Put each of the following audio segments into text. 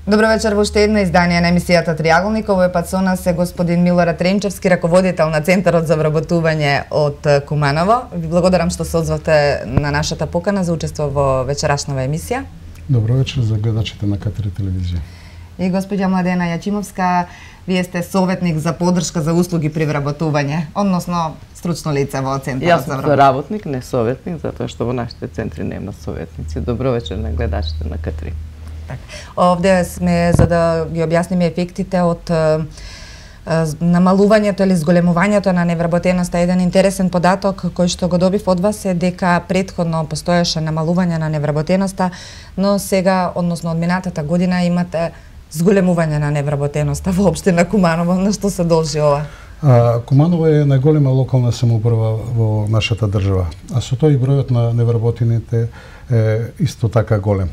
Добро вечер во уште едно издание на емисијата Триаголник. Овој пат со нас е господин Милорад Ренчевски, раководител на Центарот за вработување од Куманово. Ви благодарам што се озвавте на нашата покана за учество во вечерашнава емисија. Добро вечер за гледачите на К3 телевизија. И господја Младена Јачимовска, вие сте советник за поддршка за услуги при вработување, односно стручно лице во Центарот за вработување. Јас сум работник, не советник, затоа што во нашите центри нема советници. Добро вечер на гледачите на К3. Овде сме за да ги објасниме ефектите од намалувањето или зголемувањето на невработеноста. Еден интересен податок кој што го добив од вас е дека претходно постоеше намалување на невработеноста, но сега, односно од минатата година, имате зголемување на невработеноста во општина Куманово. На што се должи ова? Куманово е најголема локална самоуправа во нашата држава, а со тоа и бројот на невработените е исто така голем.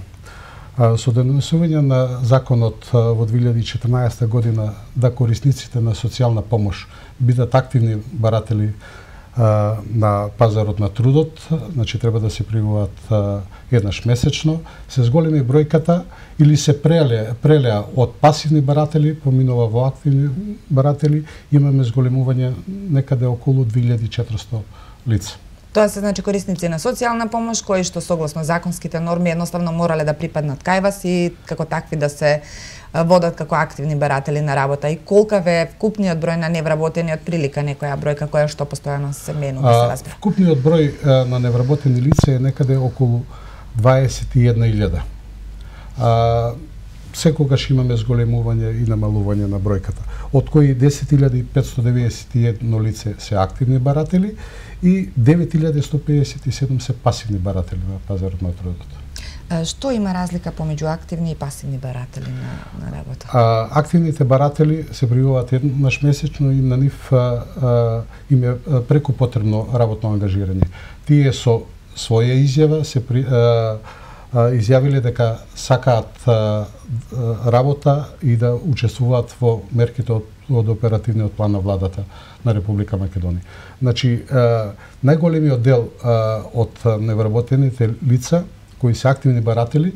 Со донесување на законот во 2014 година да корисниците на социјална помош бидат активни баратели на пазарот на трудот, значи треба да се пријавуваат еднаш месечно, се зголеми бројката или се прелеа од пасивни баратели, поминува во активни баратели, имаме зголемување некаде околу 2400 лица. Тоа се значи корисници на социјална помош кои што согласно законските норми едноставно морале да припаднат кај вас и како такви да се водат како активни баратели на работа. И колкав е вкупниот број на невработени, од прилика некоја бројка која што постојано се менува се разбира? Вкупниот број на невработени лица е некаде околу 21.000. Секогаш имаме зголемување и намалување на бројката, од кои 10.591 лице се активни баратели и 9.157 се пасивни баратели на пазарот на трудот. Што има разлика помеѓу активни и пасивни баратели на работа? Активните баратели се пријавуваат еднаш месечно и на нив им е преку потребно работно ангажирање. Тие со своја изјава се изјавиле дека сакаат работа и да учествуваат во мерките од оперативниот план на владата на Република Македонија. Значи, најголемиот дел од невработените лица кои се активни баратели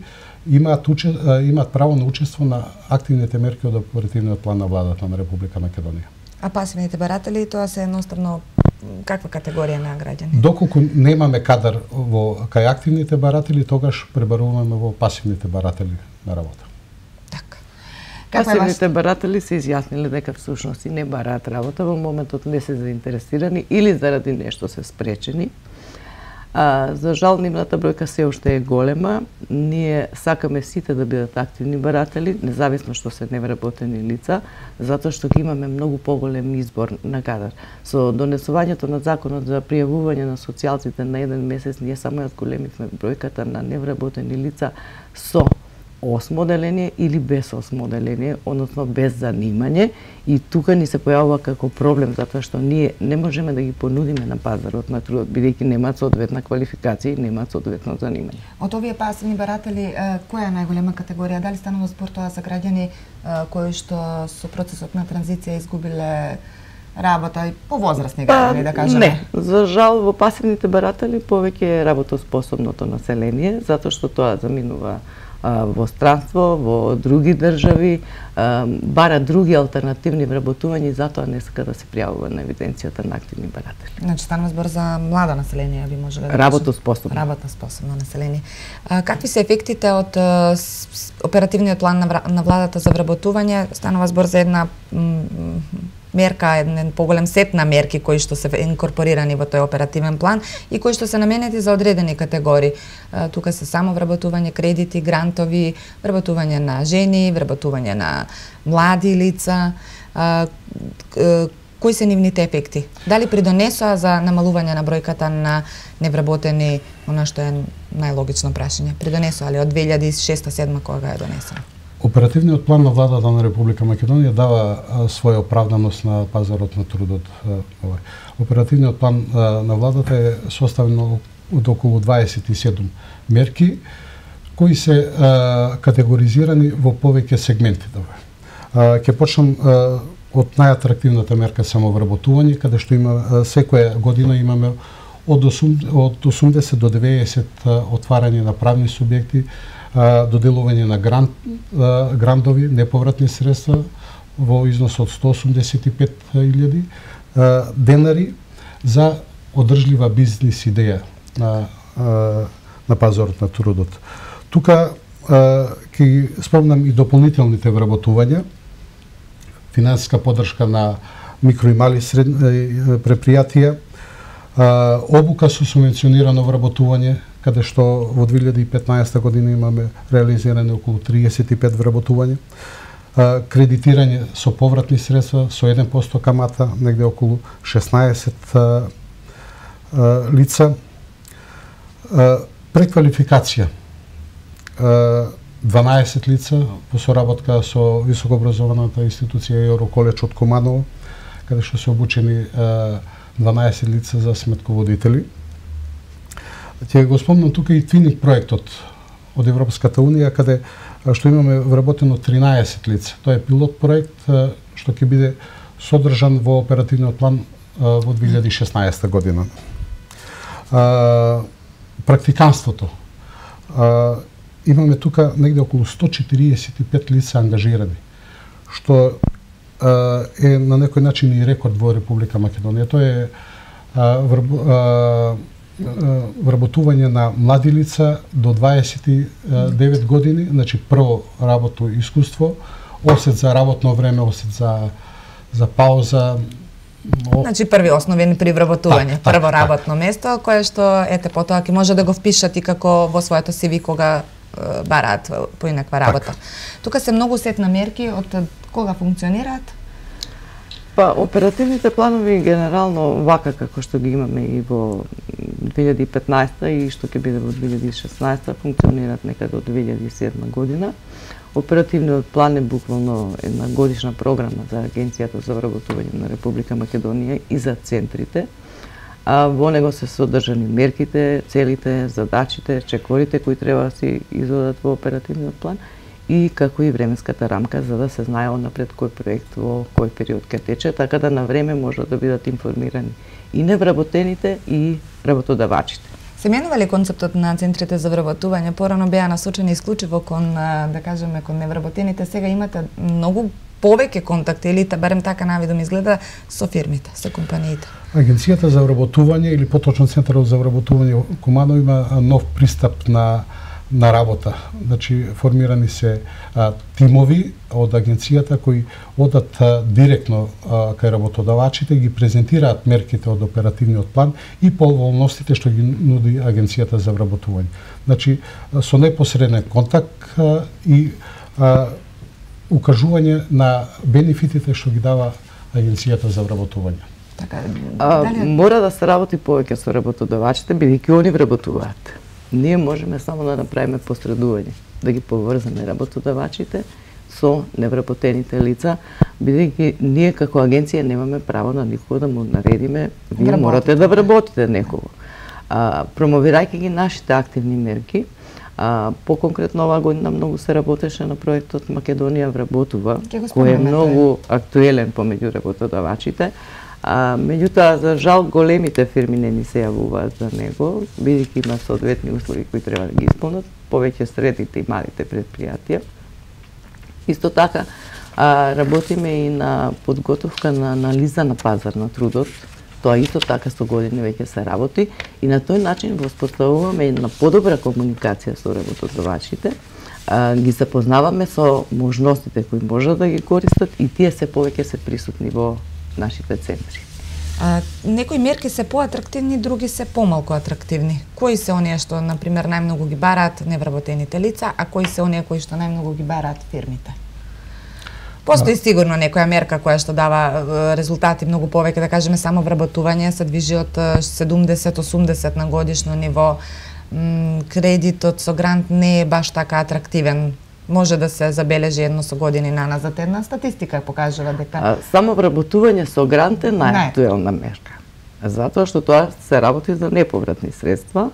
имаат право на учество на активните мерки од оперативниот план на владата на Република Македонија. А пасивните баратели, тоа се едноставно каква категорија на граѓани? Доколку немаме кадар кај активните баратели, тогаш пребаруваме во пасивните баратели на работа. Така. Пасивните баратели се изјасниле дека всушност и не бараат работа, во моментот не се заинтересирани или заради нешто се спречени. За жал, нивната бројка се уште е голема. Ние сакаме сите да бидат активни баратели, независно што се невработени лица, затоа што ги имаме многу поголем избор на кадар. Со донесувањето на законот за пријавување на социјалците на еден месец, ние само ја зголемивме бројката на невработени лица со осмо оделение или без осмо оделение, односно без занимање, и тука ни се појавува како проблем, затоа што ние не можеме да ги понудиме на пазарот на трудот, бидејќи немаат соодветна квалификација и немаат соодветно занимање. Од овие пасивни баратели, која е најголема категорија? Дали станува збор тоа за граѓани кои што со процесот на транзиција изгубиле работа и повозрастни граѓани, да кажеме? Не, за жал во пасивните баратели повеќе е работоспособното население, затоа што тоа заминува во странство, во други држави, бара други алтернативни вработувања и затоа не сака да се пријавува на евиденцијата на активни баратели. Значи станува збор за млада население, би можеле да работоспособно. Работоспособно население. Какви се ефектите од оперативниот план на владата за вработување? Станува збор за една мерка, еден поголем сет на мерки кои што се инкорпорирани во тој оперативен план и кои што се наменети за одредени категории. Тука се само вработување, кредити, грантови, вработување на жени, вработување на млади лица. Кои се нивните ефекти? Дали придонесоа за намалување на бројката на невработени, она што е најлогично прашање? Придонесоа ли од 2006-2007 кога е донесен? Оперативниот план на владата на Република Македонија дава своја оправданост на пазарот на трудот. Оперативниот план на владата е составен од околу 27 мерки кои се категоризирани во повеќе сегменти. Ќе почнам од најатрактивната мерка самовработување, каде што има секоја година имаме од 80 до 90 отварање на правни субјекти, доделување на грантови, неповратни средства во износ од 185.000 денари за одржлива бизнис идеја на пазарот на трудот. Тука ќе спомнам и дополнителните вработувања, финансиска поддршка на микро и мали предпријатија, обука со субвенционирано вработување, каде што во 2015 година имаме реализиране околу 35 вработувања, кредитирање со повратни средства со 1% камата, негде околу 16 лица, преквалификација 12 лица во соработка со високообразованата институција Евроколеж од Куманово, каде што се обучени 12 лица за сметководители. Ќе го спомнам тука и Твининг проектот од Европската унија, каде што имаме вработено 13 лица. Тоа е пилот проект што ќе биде содржан во оперативниот план во 2016 година. Практиканството. Имаме тука негде околу 145 лица ангажирани, што е на некој начин и рекорд во Република Македонија. Тоа е вработување на млади лица до 29 години, значи прво работно искуство, осет за работно време, осет за пауза. Значи први основен при вработување, прво работно место, кое што ете потоа ќе може да го впишат и како во своето CV кога бараат поинаква работа. Тука се многу сет на мерки, од кога функционираат? Па, оперативните планови генерално вака како што ги имаме и во 2015 и што ќе биде во 2016 функционираат некаде од 2007 година. Оперативниот план е буквално една годишна програма за Агенцијата за вработување на Република Македонија и за центрите. Во него се содржани мерките, целите, задачите, чекорите кои треба да се изведат во оперативниот план и како и временската рамка за да се знае однапред кој проект во кој период ќе тече, така да на време може да бидат информирани и невработените и работодавачите. Се менува ли концептот на центрите за вработување? Порано беа насочени исклучиво кон, да кажеме, кон невработените. Сега имате многу повеќе контакти, или барем така навидом изгледа, со фирмите, со компаниите. Агенцијата за вработување, или поточно Центарот за вработување Куманово има нов пристап на работа. Значи, формирани се тимови од агенцијата кои одат директно кај работодавачите, ги презентираат мерките од оперативниот план и поволностите што ги нуди агенцијата за вработување. Значи, со непосреден контакт и укажување на бенефитите што ги дава агенцијата за вработување. Така, мора да се работи повеќе со работодавачите, бидејќи они вработуваат. Ние можеме само да направиме посредување, да ги поврзаме работодавачите со невработените лица, бидејќи ние како агенција немаме право на никого да му наредиме, вие морате да вработите некого. Промовирајќи ги нашите активни мерки, по-конкретно оваа година многу се работеше на проектот Македонија вработува, кој е многу актуелен помеѓу работодавачите. Меѓутоа, за жал, големите фирми не ни се јавуваат за него, бидејќи има соодветни услови кои треба да ги исполнат, повеќе средните и малите предпријатија. Исто така, работиме и на подготовка на анализа на пазар на трудот. Тоа исто така со години веќе се работи и на тој начин воспоставуваме една подобра комуникација со работодавачите, ги запознаваме со можностите кои можат да ги користат и тие се повеќе се присутни во нашите центри. Некои мерки се поатрактивни, други се помалку атрактивни. Кои се оние што, например, најмногу ги бараат невработените лица, а кои се оние кои што најмногу ги бараат фирмите? Постои сигурно некоја мерка која што дава резултати многу повеќе, да кажеме само вработување се движи од 70-80 на годишно ниво. Кредитот со грант не е баш така атрактивен. Може да се забележи едно со години наназад. Една статистика покажува дека само вработување со грант е најактуелна мерка. Затоа што тоа се работи за неповратни средства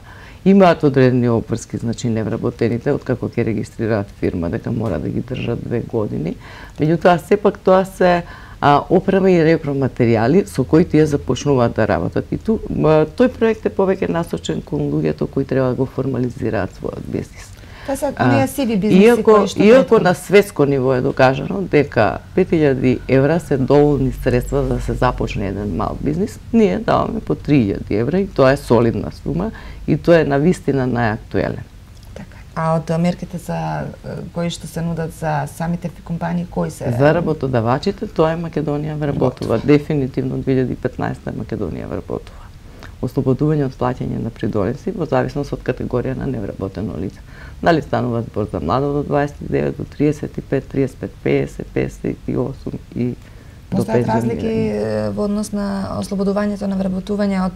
Имаат одредени обврски, значи невработените, откако ќе регистрираат фирма, дека мора да ги држат 2 години. Меѓутоа, сепак тоа се опрема и репроматеријали со кои тие започнуваат да работат. И тој проект е повеќе насочен кон луѓето кои треба да го формализираат својот бизнис. Тоа се оние сиви бизниси кои што иако на светско ниво е докажано дека 5000 евра се доволни средства за да се започне еден мал бизнис, ние даваме по 3000 евра и тоа е солидна сума и тоа е навистина најактуелен. А од мерките за кои што се нудат за самите компании, кои се? За работодавачите, тоа е Македонија вработува. Дефинитивно 2015 Македонија вработува. Ослободување од плаќање на придонеси во зависност од категорија на невработено лице. Дали станува збор за младо до 29, до 35, 35, 50, 58 и до 50. Постојат разлики во однос на ослободувањето на вработување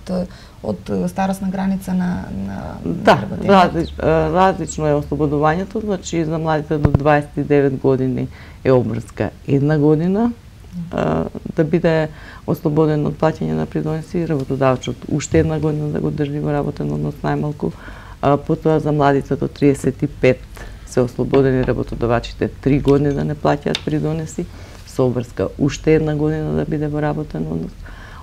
од старосна граница на различно е ослободувањето, значи за младите до 29 години е обврска 1 година да биде ослободен од плаќање на придонеси, работодавачот уште 1 година да го држи во работен однос најмалку. Потоа за младите до 35 се ослободени работодавачите 3 години да не плаќаат придонеси, со обврска уште 1 година да биде во работен однос.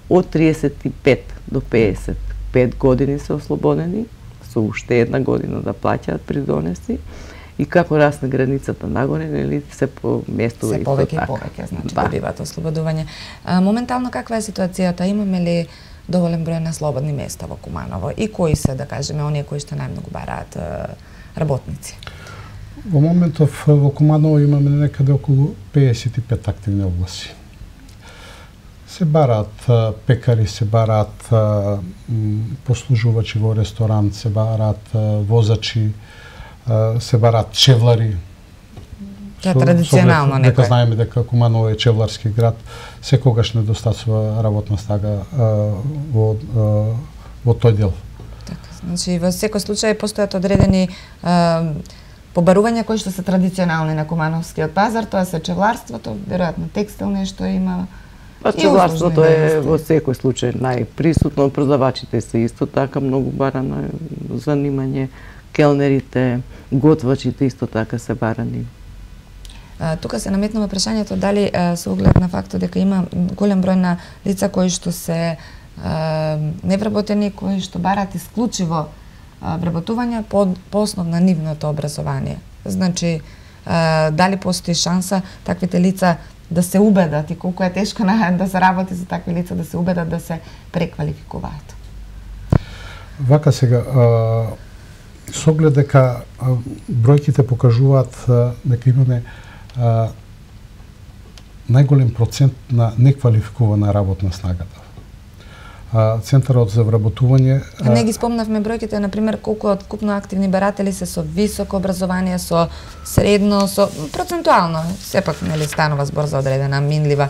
Од 35 до 55 години се ослободени, со уште 1 година да плаќаат придонеси. И како расне границата нагоре, нели се поместува се повеќе и повеќе, значи добиваат ослободување. Моментално каква е ситуацијата? Имаме ли доволен број на слободни места во Куманово и кои се, да кажеме, оние кои што најмногу бараат работници? Во моментов во Куманово имаме некаде околу 55 активни огласи. Се бараат пекари, се бараат послужувачи во ресторант, се бараат возачи, се бараат чевлари. Тоа е традиционално некој. Дека знаеме дека Куманово е чевларски град, секогаш недостасува работна снага во тој дел. Така, значи во секој случај постојат одредени побарувања кои што се традиционални на кумановскиот пазар, тоа се чевларството, веројатно текстил нешто има. Чевларството е во секој случај најприсутно, продавачите се исто така многу барано занимање, келнерите, готвачите исто така се барани. Тука се наметнува прашањето дали со оглед на фактот дека има голем број на лица кои што се невработени, кои што бараат исклучиво вработување по основ на нивното образование. Значи, дали постои шанса таквите лица да се убедат и колку е тешко да се работи за такви лица, да се убедат да се преквалификуваат? Вака сега, со оглед дека бројките покажуваат дека имаме најголем процент на неквалификувана работна снагата. Центарот за вработување... Не ги спомнавме бројките, например, колку од вкупно активни баратели се со високо образование, со средно, со процентуално. Сепак, нели, станува збор за одредена минлива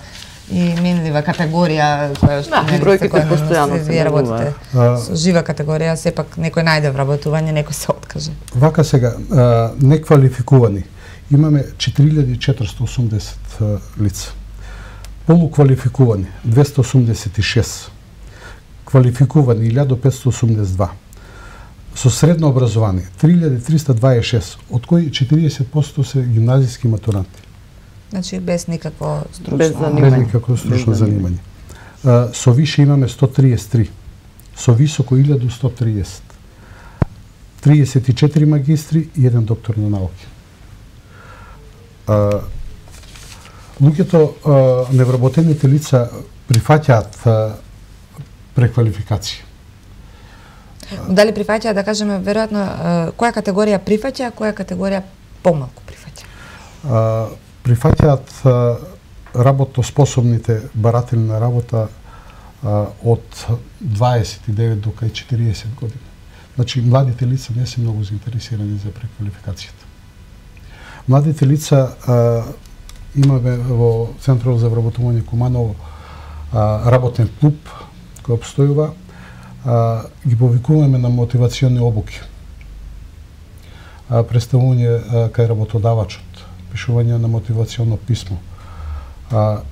категорија која што бројките постојано се работите. Со жива категорија, сепак некој најде вработување, некој се откаже. Вака сега, неквалификувани имаме 4480 лица. Полуквалификувани 286. Квалификувани 1582. Со средно образование 3326, од кои 40% се гимназиски матуранти. Значи без никакво стручно без никакво стручно занимање. Со више имаме 133, со високо 1130. 34 магистри и 1 доктор на науки. Луѓето, невработените лица прифаќаат преквалификација. Дали прифаќаат, да кажеме, веројатно, која категорија прифаќа, а која категорија помалку прифаќа? Прифаќаат работоспособните баратели на работа од 29 до 40 години. Значи, младите лица не се многу заинтересирани за преквалификацијата. Младите лица имаме во Центарот за вработување Куманово работен клуб кој обстојува, ги повикуваме на мотивациони обуки. Представување кај работодавачот, пишување на мотивационо писмо.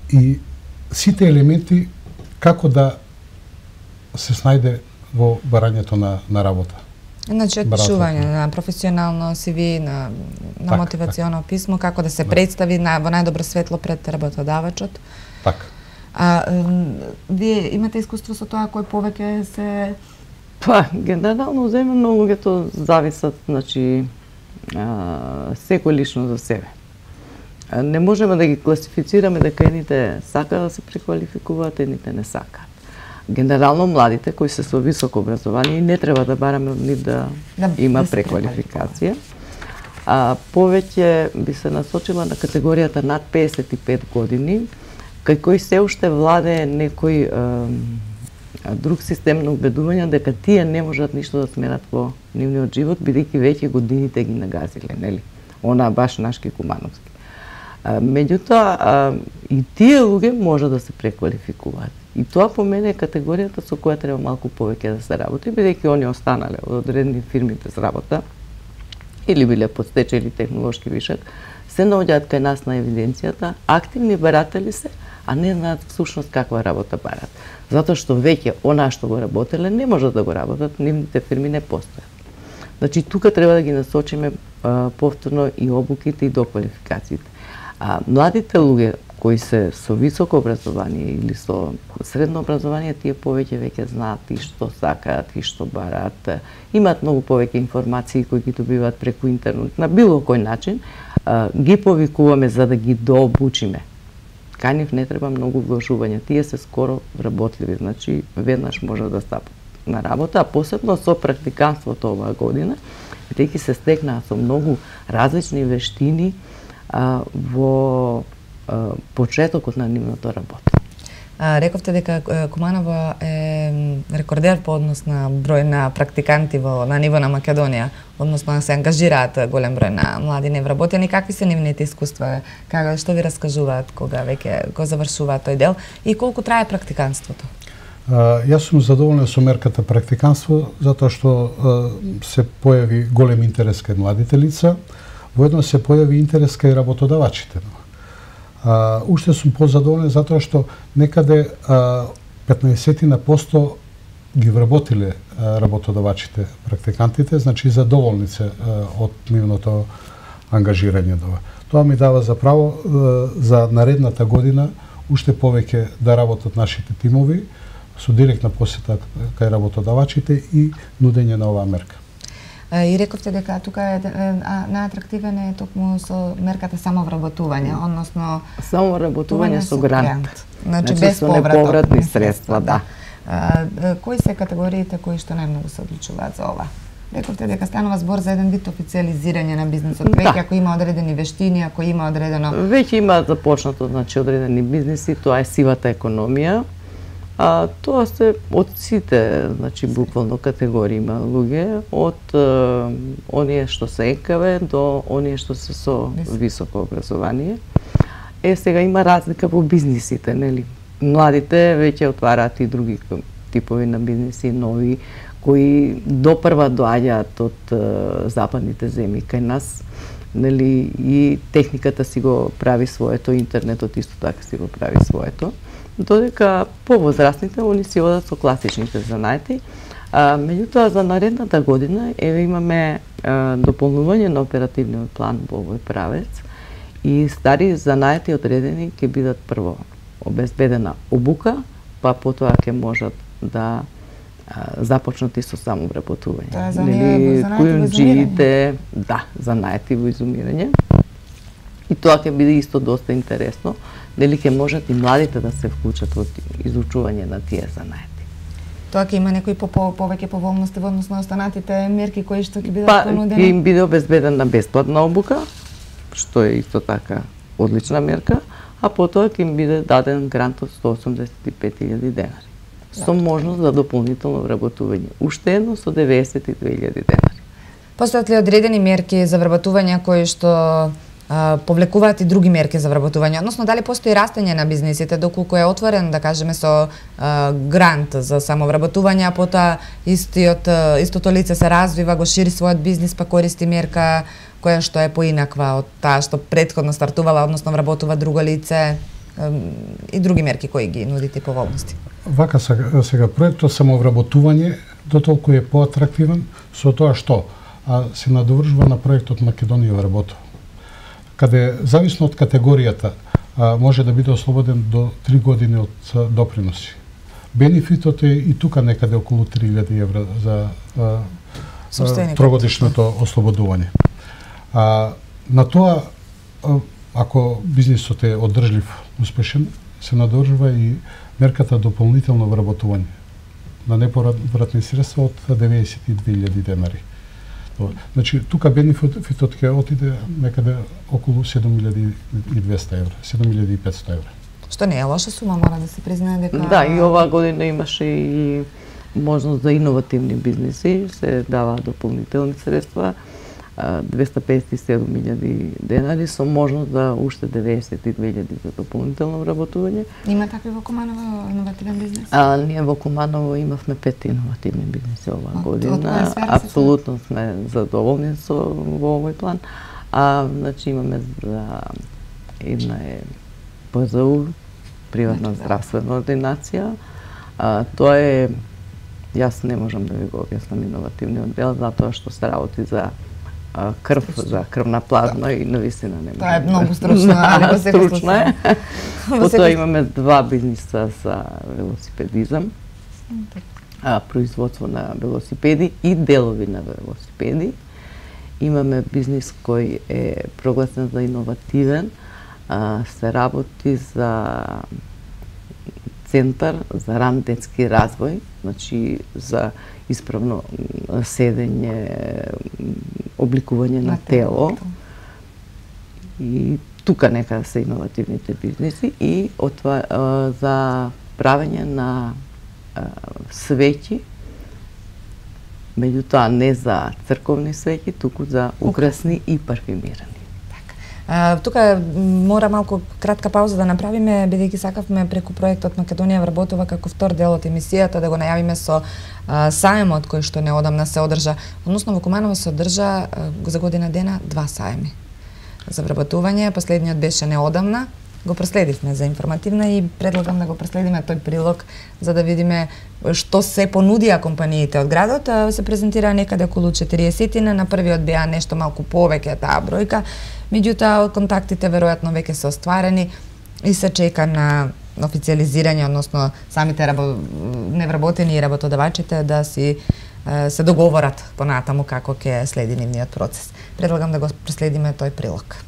И сите елементи како да се снајде во барањето на работа. Значи, пишување на професионално CV, на мотивационо писмо, како да се представи во најдобро светло пред работодавачот. Така. Вие имате искуство со тоа кој повеќе се... Генерално земено луѓето зависат, значи, секој лично за себе. Не можеме да ги класифицираме дека едните сака да се преквалификуваат, едните не сакаат. Генерално младите кои се со високо образование не треба да бараме од нив да има преквалификација. Повеќе би се насочила на категоријата над 55 години, кај кои се уште владее некој друг систем на убедување дека тие не можат ништо да сменат во нивниот живот, бидејќи веќе годините ги нагазиле, нели? Она баш Нашки Кумановски. Меѓутоа, и тие луѓе може да се преквалификуваат. И тоа по мене е категоријата со која треба малку повеќе да се работи, бидејќи они останале од одредени фирми без работа, или биле под стечај или технолошки вишак, се наоѓаат кај нас на евиденцијата, активни баратели се, а не знаат всушност каква работа барат. Затоа што веќе онаа што го работеле не можат да го работат, нивните фирми не постојат. Значи, тука треба да ги насочиме повторно и обуките и доквалификациите. Младите луѓе кои се со високо образование или со средно образование, тие повеќе веќе знаат и што сакаат и што бараат. Имаат многу повеќе информации кои ги добиваат преку интернет на било кој начин. Ги повикуваме за да ги дообучиме. Кај нив не треба многу вложување. Тие се скоро вработливи, значи веднаш може да стапат на работа, а посебно со практиканството оваа година, бидејќи се стекнаа со многу различни вештини во почетокот на нивното работа. Рековте дека Куманово е рекордер по однос на број на практиканти на ниво на Македонија, односно се ангажираат голем број на млади невработени. Какви се нивните искуства? Што ви раскажуваат кога веќе го завршуваат тој дел и колку трае практиканството? Јас сум задоволен со мерката практиканство затоа што се појави голем интерес кај младите лица, воедно се појави интерес кај работодавачите. Уште сум позадоволен затоа што некаде 15% ги вработиле работодавачите, практикантите, значи задоволни се од нивното ангажирање. Тоа ми дава за право за наредната година уште повеќе да работат нашите тимови со директна посета кај работодавачите и нудење на оваа мерка. И рековте дека тука е најатрактивен е токму со мерката самовработување, односно самовработување со грант. Значи без со неповратни средства, да. Кои се категориите кои што најмногу се одлучуваат за ова? Рековте дека станува збор за еден вид официализирање на бизнисот, веќе ако има одредени вештини, ако има одредено... Веќе има започнато, значи, одредени бизниси, тоа е сивата економија. Тоа се од сите, значи, буквално категории има луѓе, од оние што се ЕКВ до оние што се со високо образование. Сега има разлика во бизнисите, нели? Младите веќе отвараат и други типови на бизниси, нови, кои допрва доаѓаат од западните земји кај нас, нели, и техниката си го прави своето, интернетот исто така си го прави своето. Додека повозрастните, они си одат со класичните занаети. Меѓутоа, за наредната година имаме дополнување на оперативниот план во овој правец и стари занаети одредени ќе бидат прво обезбедена обука, па потоа ќе можат да започнати со самовработување. Нели, кујунџиите, да, занаети во изумирање. И тоа ќе биде исто доста интересно, дали ќе можат и младите да се вклучат во изучување на тие занаети. Тоа ќе има некои повеќе поволности во однос на останатите мерки кои што ќе бидат понудени? Ќе им биде обезбедена бесплатна обука, што е исто така одлична мерка, а потоа ќе им биде даден грант од 185.000 денари. Со можност за дополнително вработување. Уште едно со 92.000 денари. Постојат ли одредени мерки за вработување кои што повлекуваат и други мерки за вработување, односно дали постои растење на бизнисите доколку е отворен, да кажеме, со грант за самовработување, а потоа истото лице се развива, го шири својот бизнис, па користи мерка која што е поинаква од таа што претходно стартувала, односно вработува друго лице и други мерки кои ги нудите поволности. Вака сега проектот самовработување дотолку е поатрактивен со тоа што се надовршува на проектот Македонија вработува, каде зависно од категоријата може да биде ослободен до 3 години од доприноси. Бенефитот е и тука некаде околу 3000 евра за трогодишното ослободување. На тоа, ако бизнисот е одржлив, успешен, се надоржува и мерката дополнително вработување на неповратни средства од 92.000 денари. Значи, тука бенефитот ќе отиде некаде околу 7.200 евра, 7.500 евра. Што не е лоша сума, мора да се признае дека... Да, и оваа година имаше и можност за иновативни бизниси, се дава дополнителни средства, 257.000 денари со можност за уште 92.000 за дополнително вработување. Има такви во Куманово иновативен бизнис? Ние во Куманово имавме 5 иновативни бизниси оваа година. Апсолутно сме задоволни во овој план. Значи имаме за една е ПЗУ, приватна здравствена ординација. Тоа е, јас не можам да ви го објаснам иновативниот дел, затоа што се работи за крв, за крвна плазма и навистина не може. Тоа е многу стручно, али во секој случај. Потоа имаме 2 бизниса за велосипедизам, производство на велосипеди и делови на велосипеди. Имаме бизнис кој е прогласен за иновативен, се работи за центар за ран детски развој, значи за исправно седење, обликување на тело. И тука некаде се иновативните бизниси и за правење на свеќи, меѓутоа не за црковни свеќи, туку за украсни и парфюмирани. Тука мора малку кратка пауза да направиме, бидејќи сакавме преку проектот Македонија вработува како втор дел од емисијата да го најавиме со саемот кој што неодамна се одржа. Односно во Куманово се одржа за година дена 2 саеми за вработување. Последниот беше неодамна. Го проследивме за информативна и предлагам да го проследиме тој прилог за да видиме што се понудија компаниите од градот. Се презентира некаде околу 40-тина, на првиот беа нешто малку повеќе таа бројка, меѓутоа контактите веројатно веќе се остварени и се чека на официализирање, односно самите невработени и работодавачите да си се договорат понатаму како ќе следи нивниот процес. Предлагам да го проследиме тој прилог.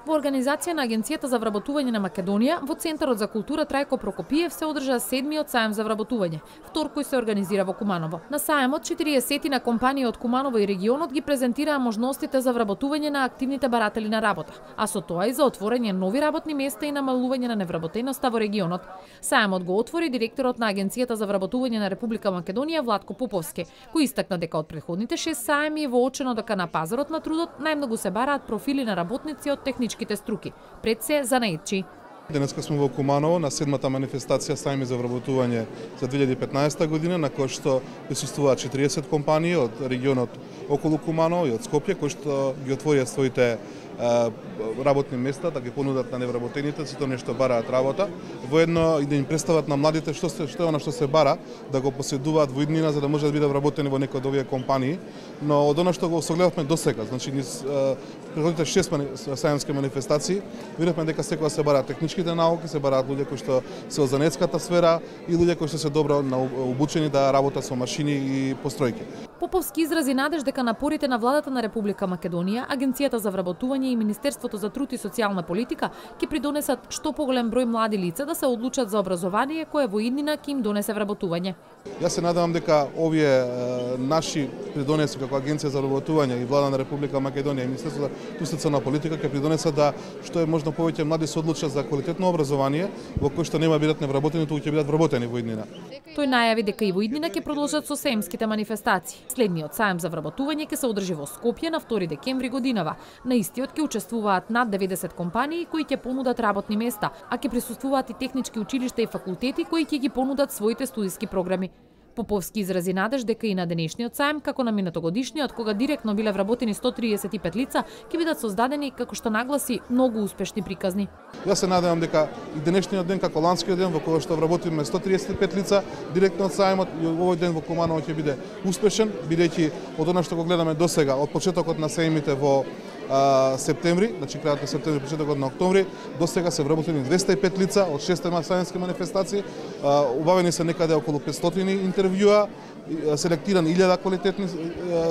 Во организација на Агенцијата за вработување на Македонија, во Центарот за култура Трајко Прокопиев се одржа 7-миот саем за вработување, втор кој се организира во Куманово. На саемот 40-тина компании од Куманово и регионот ги презентираа можностите за вработување на активните баратели на работа, а со тоа и за отворање нови работни места и намалување на невработеноста во регионот. Саемот го отвори директорот на Агенцијата за вработување на Република Македонија Владко Поповски, кој истакна дека од претходните 6 саеми е воочено дека на пазарот на трудот најмногу се бараат профили на работници од техничките струки, пред се занаетчи. Денеска сме во Куманово на 7-та манифестација саеми за вработување за 2015 година, на кој што присуствуваат 40 компании од регионот околу Куманово и од Скопје, кои што ги отворија своите работни места да ги понудат на невработените, сето нешто бараат работа, воедно и да им представат на младите што е она што се бара, да го поседуваат во иднина за да може да бидат вработени во некои од овие компании. Но од она што го согледавме досега, значи низ предходните 6 саемски манифестации, видовме дека секогаш се бараат техничките науки, се бараат луѓе кои што се од занетската сфера и луѓе кои што се добро обучени да работат со машини и постројки. Поповски изрази надеж дека напорите на владата на Република Македонија, Агенцијата за вработување и Министерството за труд и социјална политика ќе придонесат што поголем број млади лица да се одлучат за образование кое во иднина ќе им донесе вработување. Јас се надевам дека овие наши придонеси како Агенција за вработување и влада на Република Македонија и Министерството за труд и социјална политика ќе придонесат да што е можно повеќе млади се одлучат за квалитетно образование во кој што нема бидат невработени, туку ќе бидат вработени во иднина. Тој најави дека и во иднина ќе продолжат со саемските манифестации. Следниот саем за вработување ќе се одржи во Скопје на 2 декември годинава. На истиот ќе учествуваат над 90 компании кои ќе понудат работни места, а ќе присуствуваат и технички училишта и факултети кои ќе ги понудат своите студиски програми. Поповски изрази надеж дека и на денешниот саем, како на минатогодишниот, кога директно биле вработени 135 лица, ќе бидат создадени, како што нагласи, многу успешни приказни. Јас се надевам дека и денешниот ден, како ланскиот ден, во кој што вработиме 135 лица директно од саемот, и овој ден во Куманово ќе биде успешен, бидејќи од она што го гледаме досега, од почетокот на саемите во септември, значи крајот на септември, почетокот на октомври, до сега се вработени 205 лица од 6 саемски манифестации, убавени се некаде околу 500 интервјуа, селектирани 1000 квалитетни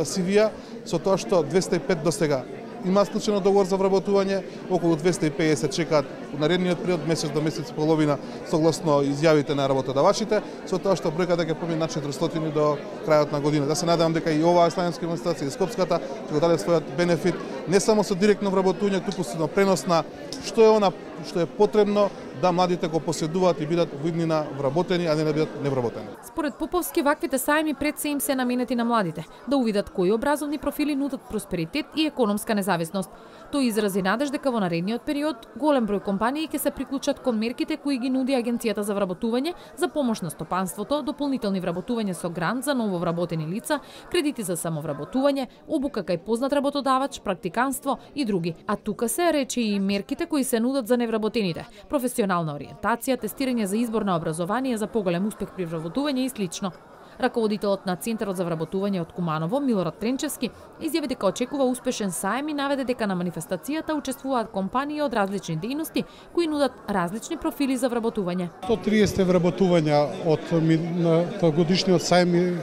CV-а, со тоа што 205 до сега има склучено договор за вработување, околу 250 чекаат во наредниот период, месец до месец и половина, согласно изјавите на работодавачите, со тоа што бројката ќе помине на 400 до крајот на година. Да се надевам дека и оваа саемска манифестација и Скопската ќе го даде својот бенефит не само со директно вработување, туку со пренос на што е она што е потребно да младите го поседуваат и бидат во иднина вработени, а не да бидат невработени. Според Поповски, ваквите саеми пред се им се наменети на младите, да увидат кои образовни профили нудат просперитет и економска независност. Тој изрази надеж дека во наредниот период голем број компании ќе се приклучат кон мерките кои ги нуди Агенцијата за вработување за помош на стопанството, дополнителни вработување со грант за ново вработени лица, кредити за самовработување, обука кај познат работодавач, практиканство и други. А тука се рече и мерките кои се нудат за невработените, професионална ориентација, тестирање за избор на образование за поголем успех при вработување и слично. Раководителот на Центарот за вработување од Куманово, Милорад Тренчевски, изјави дека очекува успешен саем и наведе дека на манифестацијата учествуваат компании од различни дејности кои нудат различни профили за вработување. 130 вработувања од годишниот саем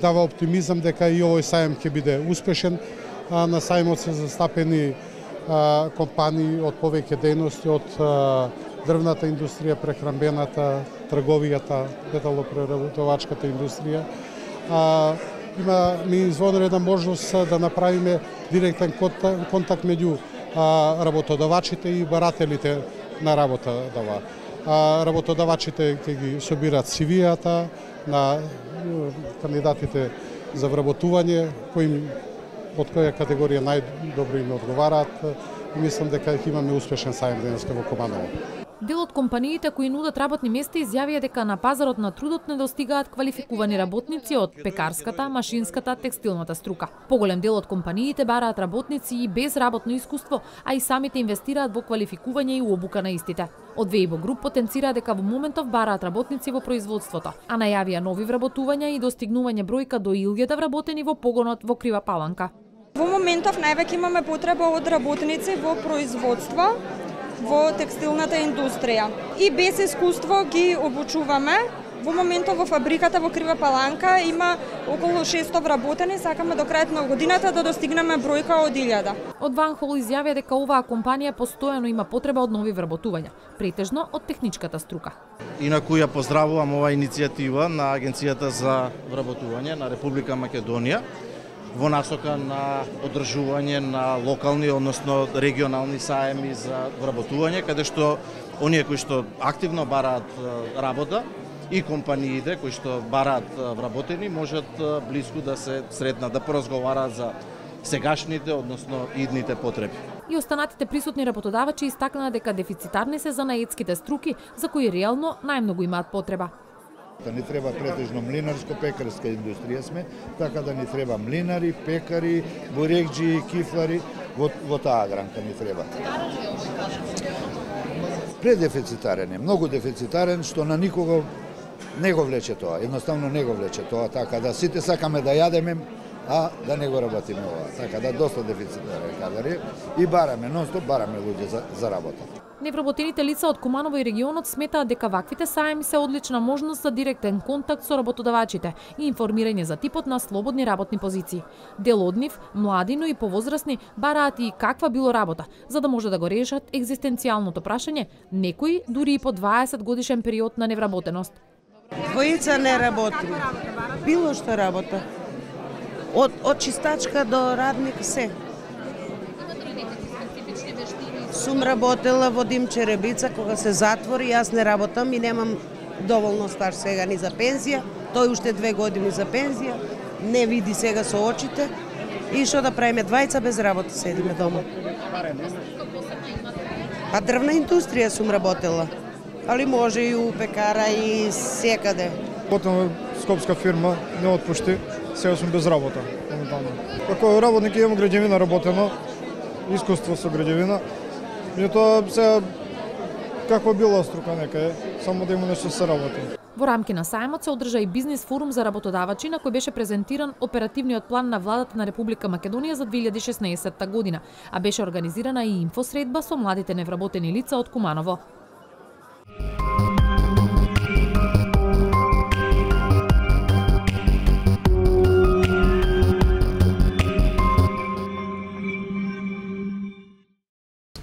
дава оптимизам дека и овој саем ќе биде успешен. На саемот се застапени компании од повеќе дејности, од дрвната индустрија, прехранбената, трговијата, металопреработувачката индустрија. Ми изводена една можност да направиме директен контакт меѓу работодавачите и барателите на работа. Работодавачите ќе ги собираат CV-ата на кандидатите за вработување, од која категорија најдобро им одговараат. Мислам дека ќе имаме успешен саем денеска во Куманово. Дел од компаниите кои нудат работни места изјавија дека на пазарот на трудот недостигаат квалификувани работници од пекарската, машинската, текстилната струка. Поголем дел од компаниите бараат работници и без работно искуство, а и самите инвестираат во квалификување и обука на истите. Од Вејбо Груп потенцира дека во моментов бараат работници во производството, а најавија нови вработувања и достигнување бројка до 1000 вработени во погонот во Крива Паланка. Во моментов највеќе имаме потреба од работници во производство, во текстилната индустрија. И без искуство ги обучуваме. Во моментов во фабриката во Крива Паланка има околу 600 вработени, сакаме до крајот на годината да достигнеме бројка од 1000. Од Ванхол изјавија дека оваа компанија постојано има потреба од нови вработувања, претежно од техничката струка. Инаку ја поздравувам оваа иницијатива на Агенцијата за вработување на Република Македонија во насока на одржување на локални, односно регионални саеми за вработување, каде што оние кои што активно бараат работа и компаниите кои што бараат вработени можат блиску да се сретнат, да поразговараат за сегашните, односно идните потреби. И останатите присутни работодавачи истакнаа дека дефицитарни се занаетските струки за кои реално најмногу имаат потреба. Ни треба претежно млинарско-пекарска индустрија сме, така да ни треба млинари, пекари, бурекџи, кифлари, во таа гранка ни треба. Предефицитарен е, многу дефицитарен, што на никого не го влече тоа, едноставно не го влече тоа, така да сите сакаме да јадеме, а да не го работиме ова. Така да доста дефицитарен кадар е и бараме, нон-стоп бараме луѓе за работа. Невработените лица од Куманово и регионот сметаат дека ваквите саеми се одлична можност за директен контакт со работодавачите и информирање за типот на слободни работни позиции. Дел од нив, млади, но и повозрасни, бараат и каква било работа, за да може да го решат екзистенцијалното прашање, некои дури и по 20 годишен период на невработеност. Двојица не работи. Било што работа. Од чистачка до радник се. Сум работела во Димче Ребица, кога се затвори, јас не работам и немам доволно стаж сега ни за пензија, тој уште 2 години за пензија, не види сега со очите и што да правиме, двајца без работа седиме дома. Па дрвна индустрија сум работела, али може и у пекара и секаде. Потом скопска фирма не отпушти, сега сум без работа. Како работник имам граѓевина работено, искуство со граѓевина, меѓутоа сега каква била струка некаде, само да има нешто се работи. Во рамки на сајмот се одржа и бизнис форум за работодавачи на кој беше презентиран оперативниот план на владата на Република Македонија за 2016 година, а беше организирана и инфосредба со младите невработени лица од Куманово.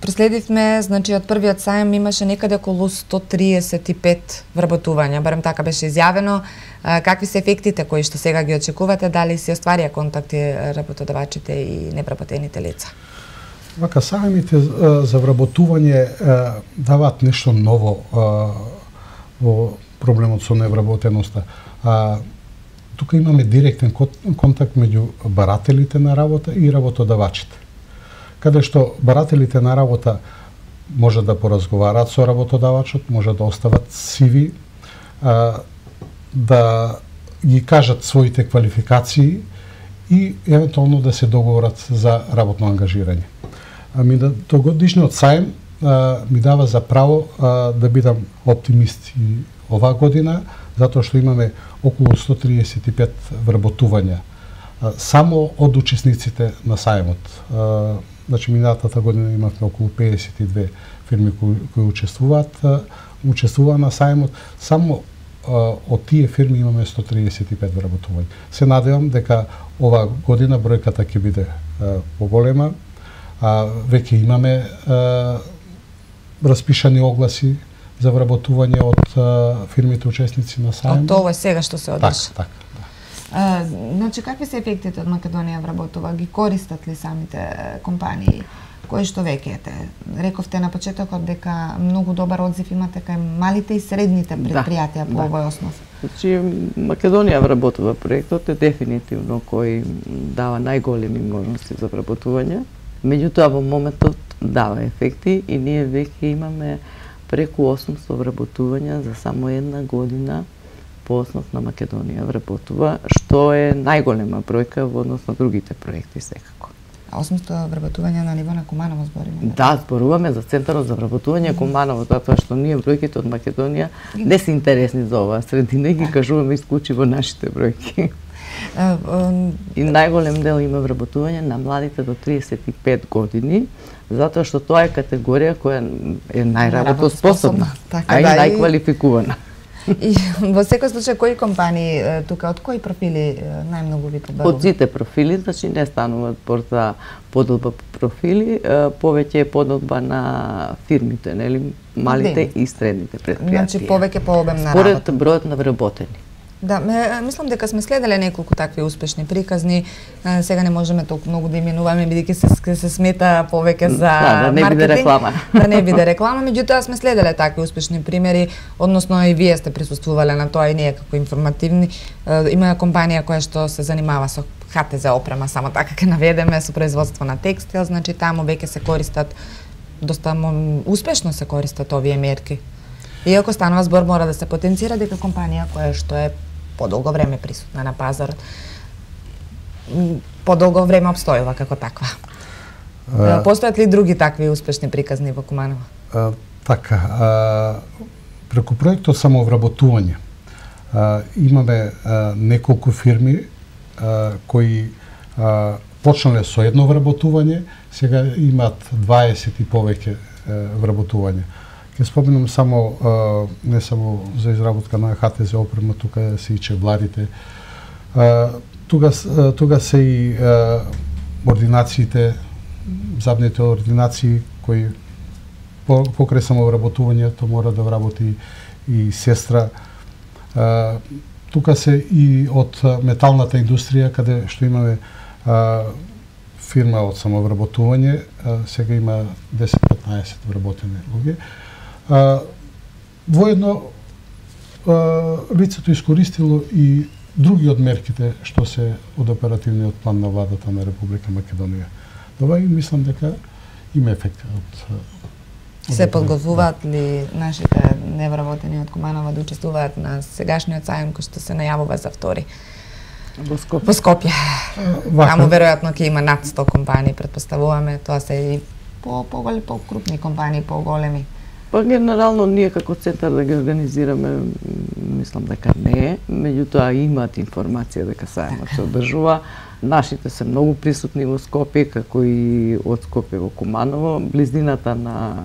Проследивме, значи од првиот сајм имаше некаде околу 135 вработувања, барем така беше изјавено. Какви се ефектите кои што сега ги очекувате, дали се остварија контакти работодавачите и невработените лица? Вака, сајмите за вработување даваат нешто ново во проблемот со невработеноста. Тука имаме директен контакт меѓу барателите на работа и работодавачите, каде што барателите на работа може да поразговараат со работодавачот, може да остават CV, да ги кажат своите квалификации и евентуално да се договорат за работно ангажирање. Тогодишниот сајм ми дава за право да бидам оптимист и оваа година, затоа што имаме околу 135 вработувања само од учесниците на сајмот. Значи, минатата година имавме околу 52 фирми кои учествуваа на сајмот. Само од тие фирми имаме 135 вработувања. Се надевам дека оваа година бројката ќе биде поголема. Веќе имаме распишани огласи за вработување од фирмите учесници на сајмот. Од ова сега што се одржа. Така. Значи, какви се ефектите од Македонија вработува? Ги користат ли самите компании? Кои што веќе ете? Рековте на почетокот дека многу добар одзив имате кај малите и средните предпријатија по овој основ. Значи, Македонија вработува проектот е дефинитивно кој дава најголеми можности за вработување. Меѓутоа, во моментот дава ефекти и ние веќе имаме преку 800 вработувања за само една година по основ на Македонија вработува, што е најголема бројка во однос на другите проекти секако. 800 вработувања на ниво на Куманово збориме? Да, зборуваме за Центарот за вработување Куманово, затоа што ние бројките од Македонија не се интересни за оваа средина и ги кажуваме исклучиво нашите бројки. И најголем дел има вработување на младите до 35 години, затоа што тоа е категорија која е најработоспособна, а и најквалификувана. И во секој случај, кои компании тука, од кои профили најмногу ви побаруваат? Од сите профили, значи не станува збор за подолба профили, повеќе е подолба на фирмите, нели, малите и средните предпријатија. Значи повеќе по обем на работа. работа. Според бројот на вработени. Да, мислам дека сме следеле неколку такви успешни приказни. Сега не можеме толку многу да именуваме бидејќи се смета повеќе за да не биде реклама. Да не биде реклама, меѓутоа сме следеле такви успешни примери, односно и вие сте присуствувале на тоа и ние како информативни. Има компанија која што се занимава со ХТЗ опрема, само така ќе наведеме, со производство на текстил, значи таму веќе се користат доста успешно се користат овие мерки. Иако станува збор, мора да се потенцира дека компанија која што е подолго време присутна на пазарот, подолго време обстојува како таква. Постојат ли други такви успешни приказни во Куманово? Така, преку проектот самовработување имаме неколку фирми кои почнале со едно вработување, сега имаат 20 и повеќе вработувања. Ќе споменам само, не само за изработка на ХТЗ опрема, тука се и чевларите, тука се и ординациите, забните ординации кои покрај самовработувањето мора да вработи и сестра. Тука се и од металната индустрија, каде што имаме фирма од самовработување, сега има 10-15 вработени луѓе. Воедно лицето искористило и други од мерките што се од оперативниот план на владата на Република Македонија. Ова и мислам дека има ефект од Се подготвуваат ли нашите невработени од Куманово да учествуваат на сегашниот сајм кој што се најавува за втори? Во Скопје. Во Скопје. Таму веројатно ќе има над 100 компании, претпоставуваме, тоа се и по-крупни компании, по-големи. Па генерално ние како центар да ги организираме, мислам дека не е, меѓутоа имаат информација дека сајмот се одржува. Нашите се многу присутни во Скопје, како и од Скопје во Куманово. Близината на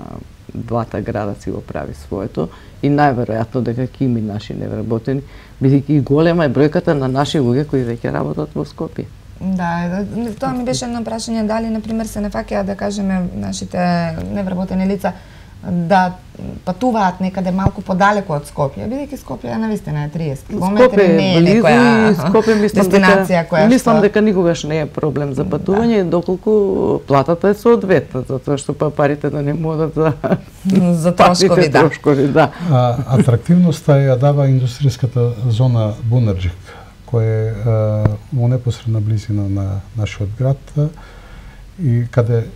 двата града си го прави своето и најверојатно дека ќе има наши невработени, бидејќи и голема е бројката на наши луѓе кои веќе работат во Скопје. Да, тоа ми беше едно прашање, дали, например, се нафаќаат, да кажеме, нашите невработени лица да патуваат некаде малку подалеку од Скопје, бидејќи Скопје навистина е 30 километри, не е некоја дестинација која што... Мислам дека никогаш не е проблем за патување, доколку платата е соодветна, затоа што парите да не одат за трошкови, да. Атрактивноста ја дава индустријската зона Бунарџик, која е во непосредна близина на нашиот град и каде